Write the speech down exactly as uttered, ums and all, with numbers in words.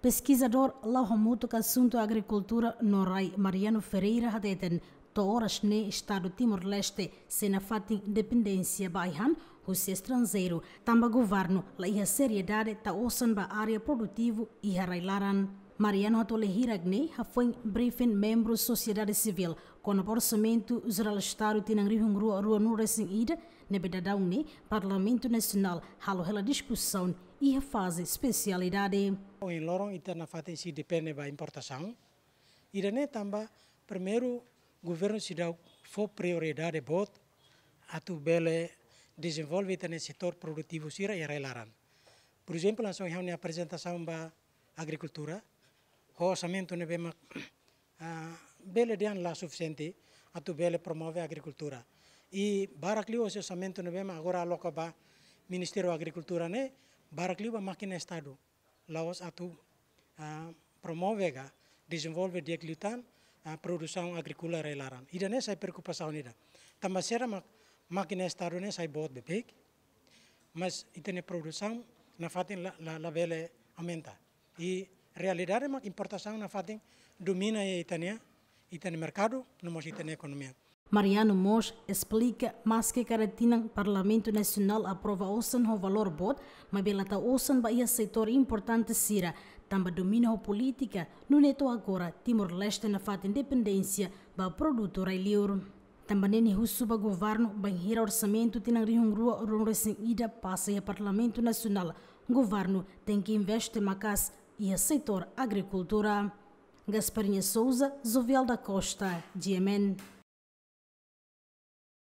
Peskizadór la'o hamutuk asuntu agrikultura no rai, Mariano Ferreira, hateten to'o oras ne'e Estadu Timor-Leste sei nafatin independénsia ba ai-han husi estranjeiru, tanba governu la iha seriedade tau osan ba área produtivu iha rai-laran. Mariano hato'o hirak-ne'e hafoin briefing membru sosiedade sivíl kona-ba Orsamentu Jerál Estadu tinan rihun rua ruanulu-resin-ida, ne'ebé daudaun ne'e Parlamentu Nasionál halo hela diskusaun iha faze espesialidade. Ohin loron ita nafatin sei depende ba importasaun. Ida-ne'e tanba primeiru governu seidauk fó prioridade boot atu bele dezenvolve ita-nia setór produtivu sira iha rai-laran. Porezemplu, hanesan ohin ha'u-nia aprezentasaun ba agrikultura, ho orsamentu ne'ebé mak, ah, bele dehan la sufisiente atu bele promove agrikultura. I barak liu husi orsamentu ne'ebé mak agora aloka ba Ministériu Agrikultura ne'e, barak liu ba mákina Estadu. La'ós atu, ah, promove ka dezenvolve di'ak liután, ah, produsaun agríkola rai-laran. Ida-ne'e sai preokupasaun ida. Tanba sira mak, mákina Estadu ne'e sai boot beibeik, mas ita-nia produsaun nafatin la, la, la bele aumenta. I realidade mak importasaun nafatin domina iha ita-nia, ita-nia merkadu, no mós ita-nia ekonomia. Mariano mós esplika, maske kada tinan Parlamentu Nasionál aprova osan ho valór boot, maibé la tau osan ba iha setór importante sira, tanba domina ho polítika, nune'e to'o agora Timor-Leste nafatin dependénsia ba produtu rai-liur. Tanba ne'e nia husu ba governu, bainhira orsamentu tinan rihun rua ruanulu-resin-ida pasa iha Parlamentu Nasionál, governu tenke investe maka'as iha setór agrikultura. Gasparinha Souza, Jovial da Costa, G M N.